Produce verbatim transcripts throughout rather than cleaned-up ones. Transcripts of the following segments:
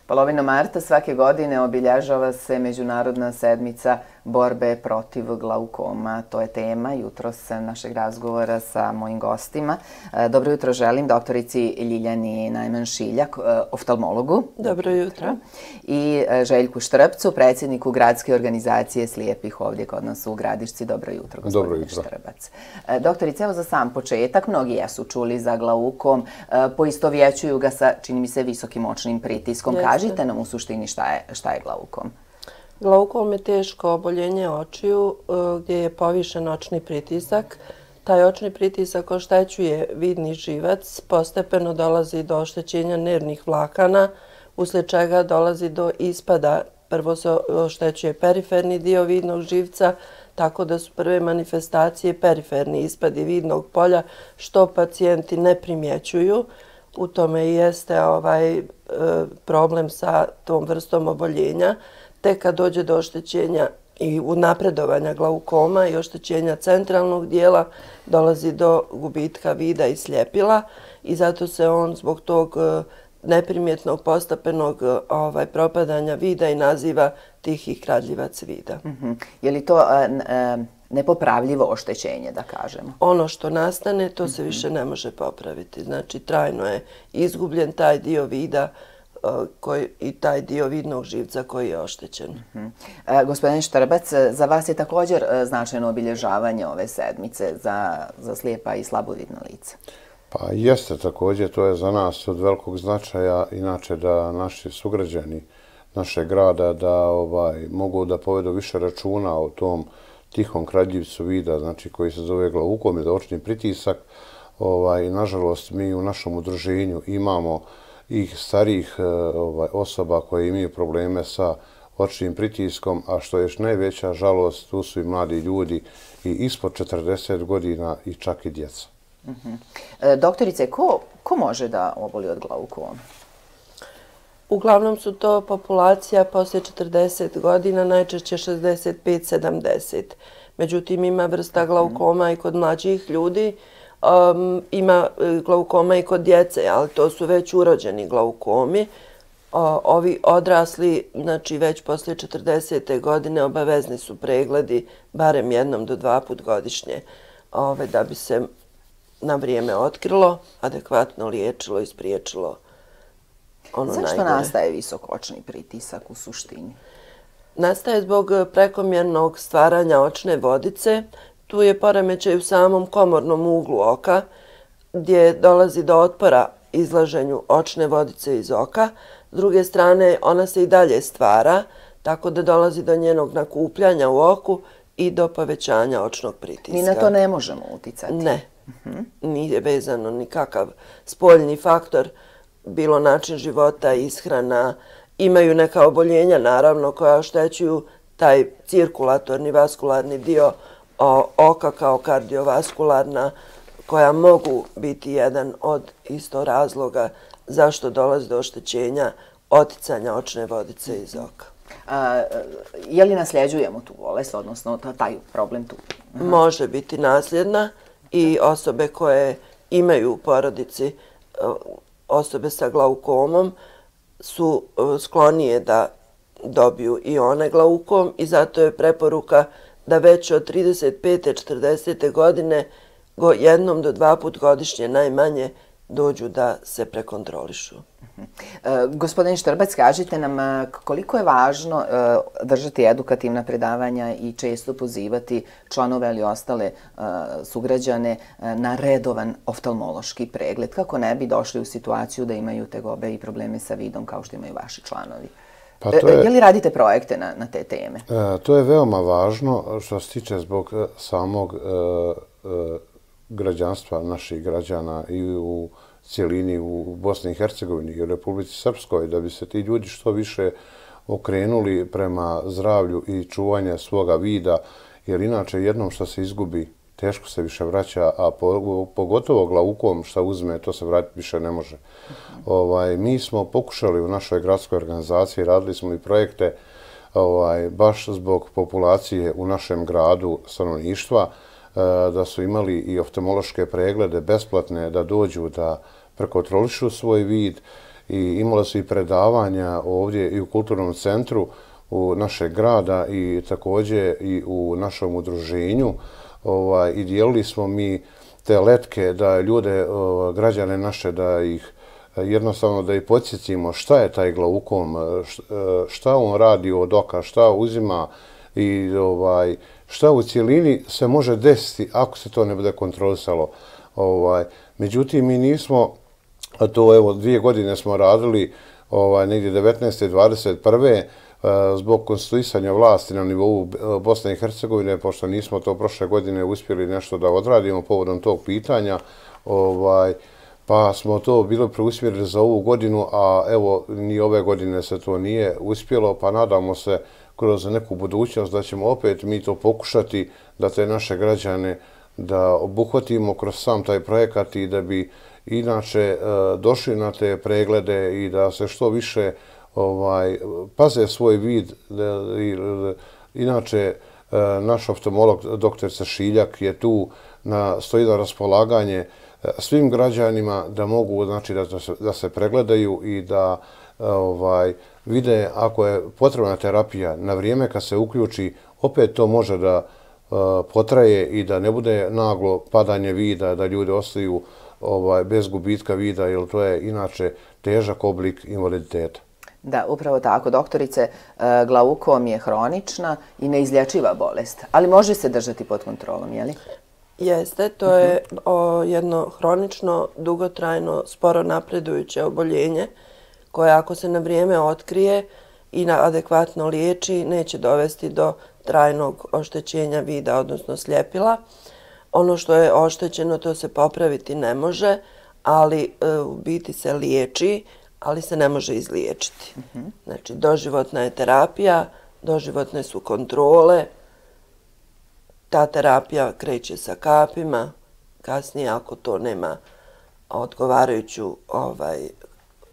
Polovinom marta svake godine obilježava se Međunarodna sedmica borbe protiv glaukoma. To je tema jutros našeg razgovora sa mojim gostima. Dobro jutro želim doktorici Ljiljani Najman-Šiljak, oftalmologu. Dobro jutro. I Željku Štrpcu, predsjedniku Gradske organizacije slijepih ovdje kod nas u Gradišci. Dobro jutro, gospodine Štrbac. Doktorice, evo za sam početak, mnogi jesu čuli za glaukom, poistovjećuju ga sa, čini mi se, visokim očnim pritiskom. Kažite nam u suštini šta je, šta je glaukom. Glaukom je teško oboljenje očiju gdje je povišen očni pritisak. Taj očni pritisak oštećuje vidni živac, postepeno dolazi do oštećenja nervnih vlakana, uslijed čega dolazi do ispada. Prvo se oštećuje periferni dio vidnog živca, tako da su prve manifestacije periferni ispadi vidnog polja, što pacijenti ne primjećuju. U tome i jeste ovaj problem sa tom vrstom oboljenja. Tek kad dođe do oštećenja i napredovanja glaukoma i oštećenja centralnog dijela, dolazi do gubitka vida i sljepila i zato se on zbog tog neprimjetnog postepenog ovaj, propadanja vida i naziva tihi kradljivac vida. Mm-hmm. Je li to uh, uh, nepopravljivo oštećenje, da kažemo? Ono što nastane, to se više ne može popraviti. Znači, trajno je izgubljen taj dio vida uh, koji, i taj dio vidnog živca koji je oštećen. Mm-hmm. uh, Gospodin Štrbac, za vas je također uh, značajno obilježavanje ove sedmice za, za slijepa i slabovidna lica. Pa jeste također, to je za nas od velikog značaja, inače da naši sugrađani našeg grada da ovaj, mogu da povedu više računa o tom tihom kradljivcu vida, znači koji se zove glaukom ili očni pritisak. Ovaj, nažalost, mi u našem udruženju imamo i starijih ovaj, osoba koje imaju probleme sa očnim pritiskom, a što je još najveća žalost, tu su i mladi ljudi i ispod četrdeset godina i čak i djeca. Mm-hmm. E, doktorice, ko, ko može da oboli od glaukoma? Uglavnom su to populacija poslije četrdeset godina, najčešće šezdeset pet sedamdeset. Međutim, ima vrsta glaukoma i kod mlađih ljudi, um, ima glaukoma i kod djece, ali to su već urođeni glaukomi. O, ovi odrasli, znači već poslije četrdesete godine, obavezni su pregledi barem jednom do dva put godišnje, ove, da bi se na vrijeme otkrilo, adekvatno liječilo i spriječilo ono najgore. Zašto nastaje visok očni pritisak u suštini? Nastaje zbog prekomjernog stvaranja očne vodice. Tu je poremećaj u samom komornom uglu oka, gdje dolazi do otpora izlaženju očne vodice iz oka. S druge strane, ona se i dalje stvara, tako da dolazi do njenog nakupljanja u oku i do povećanja očnog pritiska. Mi na to ne možemo uticati? Ne. Uh-huh. Nije vezano nikakav spoljni faktor, bilo način života, ishrana. Imaju neka oboljenja, naravno, koja oštećuju taj cirkulatorni vaskularni dio oka kao kardiovaskularna, koja mogu biti jedan od isto razloga zašto dolazi do oštećenja oticanja očne vodice iz oka. A, je li nasljeđujemo tu bolest, odnosno taj problem tu? Aha. Može biti nasljedna i osobe koje imaju u porodici osobe sa glaukomom su sklonije da dobiju i one glaukom i zato je preporuka da već od trideset pete četrdesete godine jednom do dva put godišnje najmanje dođu da se prekontrolišu. E, gospodin Štrbac, kažite nam koliko je važno e, držati edukativna predavanja i često pozivati članove ili ostale e, sugrađane e, na redovan oftalmološki pregled, kako ne bi došli u situaciju da imaju tegobe i probleme sa vidom kao što imaju vaši članovi. Pa to je, je li radite projekte na, na te teme? E, to je veoma važno što se tiče zbog samog e, e, građanstva naših građana i u cijelini u Bosni i Hercegovini i u Republici Srpskoj, da bi se ti ljudi što više okrenuli prema zdravlju i čuvanje svoga vida, jer inače jednom što se izgubi, teško se više vraća, a pogotovo glaukom što uzme, to se vratiti više ne može. Ovaj, mi smo pokušali u našoj gradskoj organizaciji, radili smo i projekte ovaj, baš zbog populacije u našem gradu stanovništva, da su imali i oftalmološke preglede besplatne, da dođu da prekontrolišu svoj vid i imali su i predavanja ovdje i u kulturnom centru u našeg grada i također i u našem udruženju. Ovaj, I dijelili smo mi te letke da ljude, ovaj, građane naše, da ih jednostavno da ih podsjetimo šta je taj glaukom, šta on radi od oka, šta uzima i ovaj, šta u cijelini se može desiti ako se to ne bude kontrolisalo. Ovaj, međutim, mi nismo, a to evo dvije godine smo radili, ovaj, negdje devetnaeste i dvadeset prve zbog konstituisanja vlasti na nivou Bosne i Hercegovine, pošto nismo to prošle godine uspjeli nešto da odradimo povodom tog pitanja, ovaj, pa smo to bilo preusmjerili za ovu godinu, a evo ni ove godine se to nije uspjelo, pa nadamo se kroz neku budućnost da ćemo opet mi to pokušati da te naše građane da obuhvatimo kroz sam taj projekat i da bi inače došli na te preglede i da se što više ovaj, paze svoj vid. Inače, naš oftalmolog doktor Šiljak je tu na, stoji na raspolaganje svim građanima da mogu, znači, da, se, da se pregledaju i da ovaj, vide ako je potrebna terapija na vrijeme kad se uključi, opet to može da uh, potraje i da ne bude naglo padanje vida, da ljudi ostaju ovaj, bez gubitka vida, jer to je inače težak oblik invaliditeta. Da, upravo tako. Doktorice, glaukom je hronična i neizlječiva bolest, ali može se držati pod kontrolom, je li? Jeste, to je o, jedno hronično, dugotrajno, sporo napredujuće oboljenje koje ako se na vrijeme otkrije i na adekvatno liječi neće dovesti do trajnog oštećenja vida, odnosno sljepila. Ono što je oštećeno to se popraviti ne može, ali e, u biti se liječi, ali se ne može izliječiti. Znači, doživotna je terapija, doživotne su kontrole. Ta terapija kreće sa kapima, kasnije ako to nema odgovarajuću ovaj,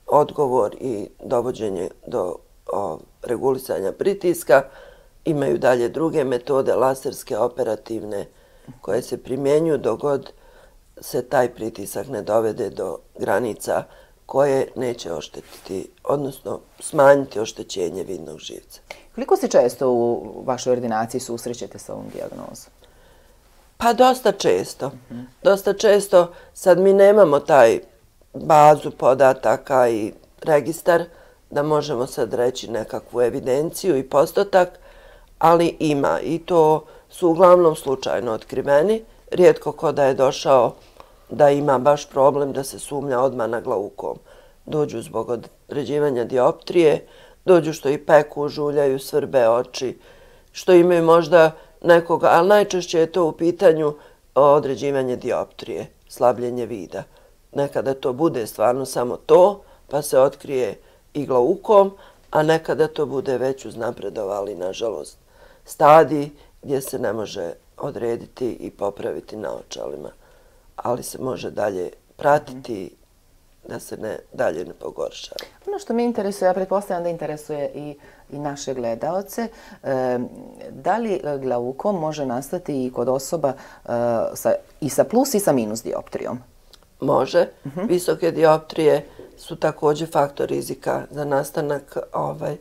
odgovor i dovođenje do o, regulisanja pritiska, imaju dalje druge metode, laserske, operativne, koje se primjenjuju dok god se taj pritisak ne dovede do granica koje neće oštetiti, odnosno smanjiti oštećenje vidnog živca. Koliko se često u vašoj ordinaciji susrećete sa ovom dijagnozom? Pa dosta često. Mm-hmm. Dosta često. Sad mi nemamo taj bazu podataka i registar da možemo sad reći nekakvu evidenciju i postotak, ali ima i to su uglavnom slučajno otkriveni. Rijetko ko da je došao da ima baš problem da se sumnja odmah na glaukom. Dođu zbog određivanja dioptrije, dođu što i peku, žuljaju, svrbe oči, što imaju možda nekoga, ali najčešće je to u pitanju određivanje dioptrije, slabljenje vida. Nekada to bude stvarno samo to, pa se otkrije i glaukom, a nekada to bude već uznapredovali, nažalost, stadij gdje se ne može odrediti i popraviti na očalima, ali se može dalje pratiti da se ne, dalje ne pogoršava. Ono što me interesuje, ja pretpostavljam da interesuje i, i naše gledaoce, e, da li glaukom može nastati i kod osoba e, sa, i sa plus i sa minus dioptrijom? Može. Uh-huh. Visoke dioptrije su također faktor rizika za nastanak ovaj, e,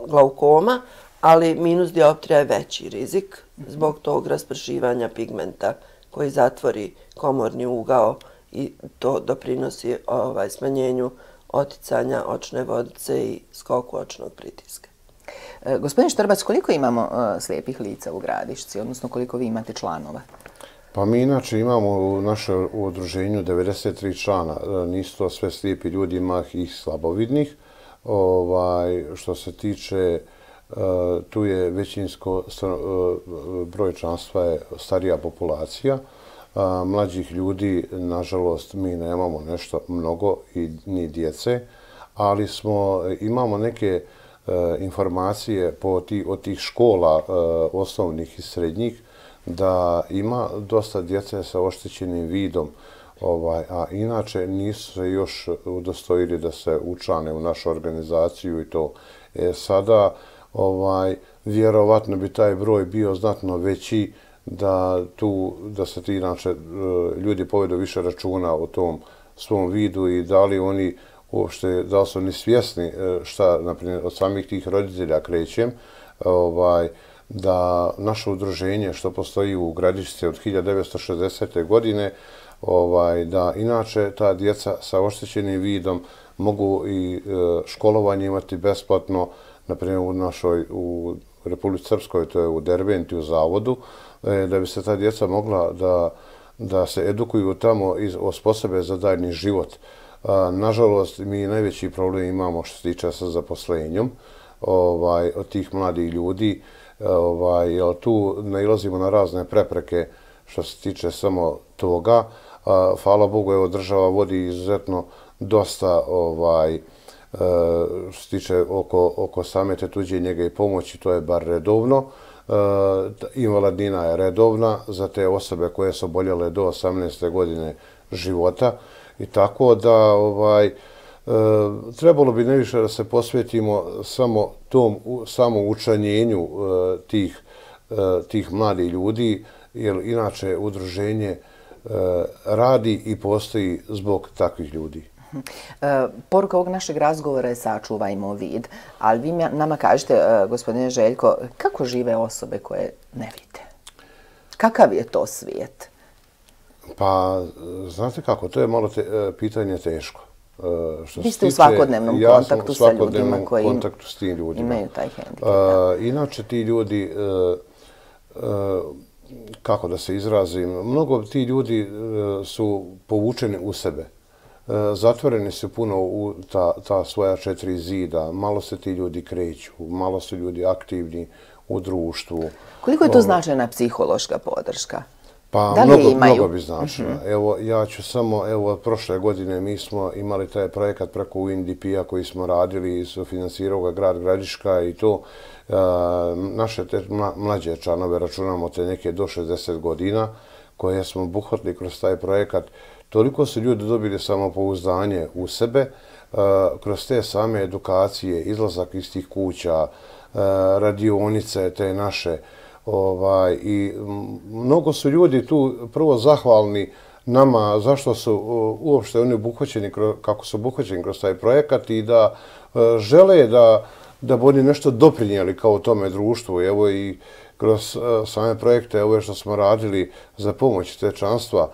glaukoma, ali minus dioptrija je veći rizik zbog tog raspršivanja pigmenta koji zatvori komorni ugao i to doprinosi ovaj, smanjenju oticanja očne vodice i skoku očnog pritiska. E, gospodin Štrbac, koliko imamo uh, slijepih lica u Gradišci, odnosno koliko vi imate članova? Pa mi inače imamo u našem udruženju devedeset tri člana. Nisu to sve slijepi ljudi, ima ih slabovidnih. Ovaj, što se tiče, uh, tu je većinsko uh, broj članstva je starija populacija. A, mlađih ljudi, nažalost, mi nemamo nešto mnogo i ni djece, ali smo, imamo neke e, informacije po ti, od tih škola e, osnovnih i srednjih da ima dosta djece sa oštećenim vidom, ovaj, a inače nisu se još udostojili da se učlane u našu organizaciju i to. E, sada, ovaj, vjerovatno bi taj broj bio znatno veći, da tu, da se ti inače ljudi povedu više računa o tom svom vidu i da li oni uopšte da li su oni svjesni šta, naprimjer, od samih tih roditelja krećem, ovaj, da naše udruženje što postoji u Gradišci od hiljadu devetsto šezdesete. godine, ovaj, da inače ta djeca sa oštećenim vidom mogu i školovanje imati besplatno, naprimjer u našoj, u Republici Srpskoj, to je u Derbenti, u zavodu, da bi se ta djeca mogla da, da se edukuju tamo i osposobe za daljnji život. Nažalost, mi najveći problem imamo što se tiče sa zaposlenjem ovaj, od tih mladih ljudi. Ovaj, jer tu nailazimo na razne prepreke što se tiče samo toga. Hvala Bogu, evo, država vodi izuzetno dosta ovaj, što se tiče oko, oko same te tuđe njege i pomoći, to je bar redovno. Invalidnina je redovna za te osobe koje su oboljele do osamnaeste godine života i tako da ovaj, trebalo bi najviše da se posvetimo samo tom samoučlanjenju tih, tih mladih ljudi, jer inače udruženje radi i postoji zbog takvih ljudi. Poruka ovog našeg razgovora je sačuvajmo vid, ali vi nama kažete, gospodine Željko, kako žive osobe koje ne vide? Kakav je to svijet? Pa, znate kako, to je malo te, pitanje teško. Vi ste u svakodnevnom kontaktu sa ljudima koji imaju taj hendikep. Inače, ti ljudi, kako da se izrazim, mnogo ti ljudi su povučeni u sebe. Zatvoreni su puno u ta, ta svoja četiri zida, malo se ti ljudi kreću, malo su ljudi aktivni u društvu. Koliko je to značajna psihološka podrška? Pa da mnogo, imaju? mnogo bi značila. Mm-hmm. Evo, ja ću samo, evo, od prošle godine mi smo imali taj projekat preko U N D P-a koji smo radili i sufinansirao ga grad Gradiška i to e, naše te mlađe članove, računamo te neke do šezdeset godina, koje smo obuhvatili kroz taj projekat. Toliko su ljudi dobili samopouzdanje u sebe, e, kroz te same edukacije, izlazak iz tih kuća, e, radionice te naše, Ovaj, i mnogo su ljudi tu prvo zahvalni nama zašto su uopšte oni obuhvaćeni, kako su obuhvaćeni kroz taj projekat i da žele da, da bi oni nešto doprinijeli kao tome društvu. Evo i kroz same projekte ove što smo radili za pomoć te članstva,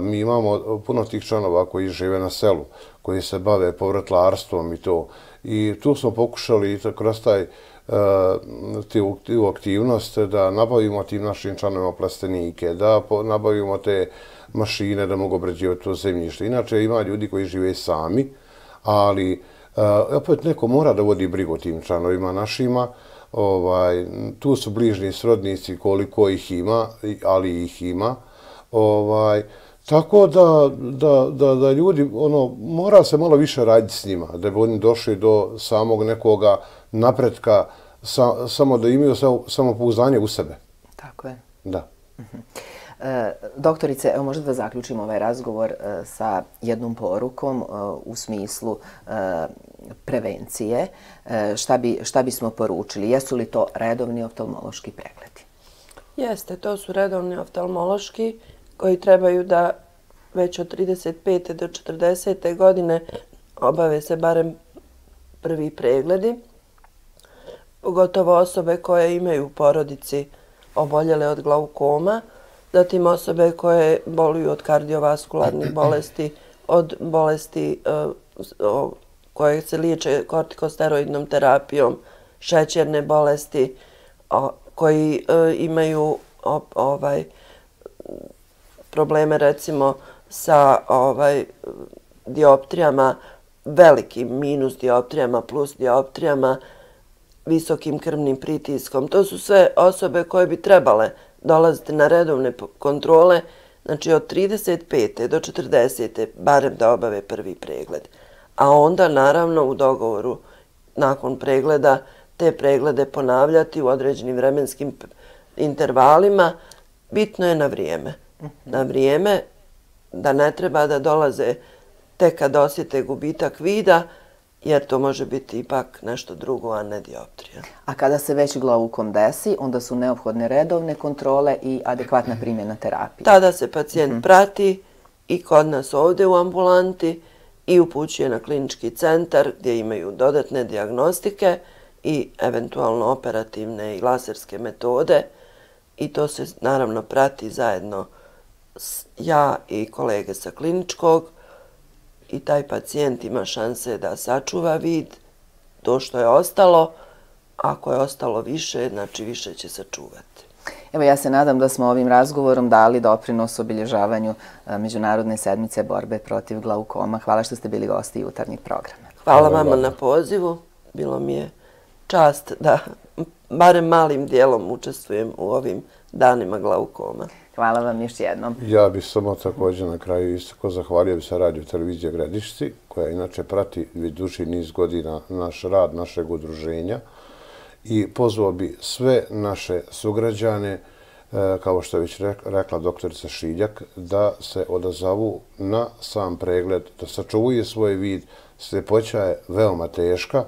mi imamo puno tih članova koji žive na selu, koji se bave povratlarstvom i to. I tu smo pokušali kroz taj tu aktivnost da nabavimo tim našim članovima plastenike, da nabavimo te mašine da mogu obrađivati to zemljište. Inače ima ljudi koji žive sami, ali opet neko mora da vodi brigu tim članovima našima. Ovaj, tu su bližni srodnici koliko ih ima, ali ih ima. Ovaj, tako da, da, da, da ljudi, ono, mora se malo više raditi s njima, da bi oni došli do samog nekoga napretka, sa, samo da imaju samopouzdanje u sebe. Tako je. Da. Uh-huh. E, doktorice, evo možda da zaključimo ovaj razgovor e, sa jednom porukom e, u smislu e, prevencije. E, šta, bi, šta bismo poručili? Jesu li to redovni oftalmološki pregledi? Jeste, to su redovni oftalmološki koji trebaju da već od trideset pete do četrdesete godine obave se barem prvi pregledi. Pogotovo osobe koje imaju u porodici oboljele od glaukoma, zatim osobe koje boluju od kardiovaskularnih bolesti, od bolesti uh, koje se liječe kortikosteroidnom terapijom, šećerne bolesti, uh, koji uh, imaju uh, ovaj, probleme recimo sa ovaj, dioptrijama, velikim minus dioptrijama, plus dioptrijama, visokim krvnim pritiskom. To su sve osobe koje bi trebale dolaziti na redovne kontrole, znači od trideset pete do četrdesete barem da obave prvi pregled. A onda naravno u dogovoru nakon pregleda te preglede ponavljati u određenim vremenskim intervalima. Bitno je na vrijeme. Na vrijeme da ne treba da dolaze tek kad osjete gubitak vida, jer to može biti ipak nešto drugo, a ne dioptrija. A kada se već glaukom desi, onda su neophodne redovne kontrole i adekvatna primjena terapije. Tada se pacijent prati i kod nas ovdje u ambulanti i upućuje na klinički centar gdje imaju dodatne dijagnostike i eventualno operativne i laserske metode i to se naravno prati zajedno ja i kolege sa kliničkog i taj pacijent ima šanse da sačuva vid, to što je ostalo, ako je ostalo više, znači više će sačuvati. Evo, ja se nadam da smo ovim razgovorom dali doprinos obilježavanju Međunarodne sedmice borbe protiv glaukoma. Hvala što ste bili gosti jutarnjeg programa. Hvala vama na pozivu. Bilo mi je čast da barem malim dijelom učestvujem u ovim danima glaukoma. Hvala vam još jednom. Ja bih samo također na kraju istako zahvalio bi se Radio Televizije Gradišci, koja inače prati duži niz godina naš rad, našeg udruženja i pozvao bi sve naše sugrađane, kao što je već rekla doktorica Šiljak, da se odazovu na sam pregled, da sačuvaju svoj vid. Sljepoća je veoma teška.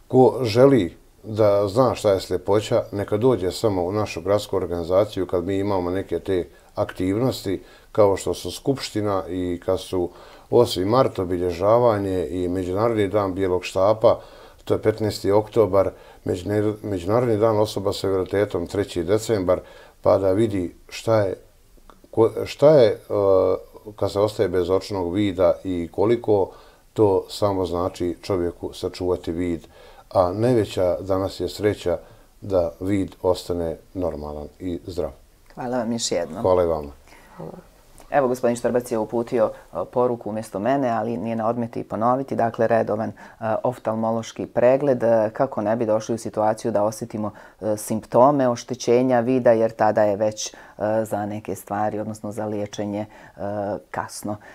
Ko želi da zna šta je sljepoća, neka dođe samo u našu gradsku organizaciju kad mi imamo neke te aktivnosti, kao što su skupština i kad su osmi mart, obilježavanje i Međunarodni dan bijelog štapa, to je petnaesti oktobar, Međunarodni dan osoba sa invaliditetom treći decembar, pa da vidi šta je, šta je kad se ostaje bez očnog vida i koliko to samo znači čovjeku sačuvati vid. A najveća danas je sreća da vid ostane normalan i zdrav. Hvala vam još jednom. Hvala i vama. Evo, gospodin Štrbac je uputio poruku umjesto mene, ali nije na odmet i ponoviti. Dakle, redovan oftalmološki pregled kako ne bi došli u situaciju da osjetimo simptome oštećenja vida, jer tada je već za neke stvari, odnosno za liječenje kasno.